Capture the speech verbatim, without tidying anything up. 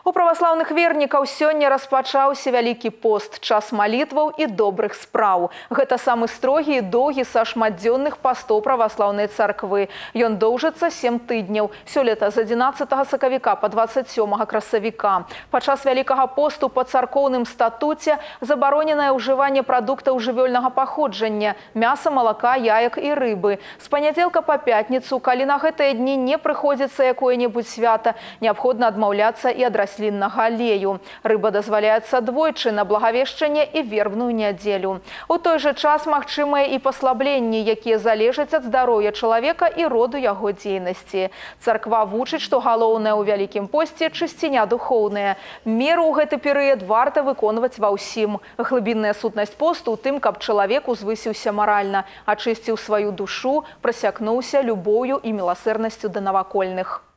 У праваслаўных вернікаў сёння распачаўся вялікі пост, час малітваў і добрых спраў. Гэта самы строгі і доўгі са шматдзённых пастоў праваслаўнай царквы. Ён доўжыцца сем тыдняў. Сёлета з адзінаццатага сакавіка па дваццаць сёмага красавіка. Падчас вялікага посту па царкоўным статуце забароненае ўжыванне прадуктаў жывёльнага паходжання – мяса, малака, яек і рыбы. З панядзелка па пятніцу, калі на гэтыя дні не прыходзіцца якое-небудзь свята, неабходна адмаўляцца і ад расліннага алею. Рыба дазваляецца двойчы на благавешчанне і вербную нядзелю. У той жа час магчымыя і паслабленні, якія залежаць ад здароўя чалавека і роду яго дзейнасці. Царква вучыць, што галоўнае ў вялікім посце – чысціня духоўная. Меру ў гэты перыяд варта выконваць ва ўсім. Глыбінная сутнасць посту ў тым, каб чалавек узвысіўся маральна, ачысціў сваю душу, прасякнуўся любоўю і міласэрнасцю да навакольных.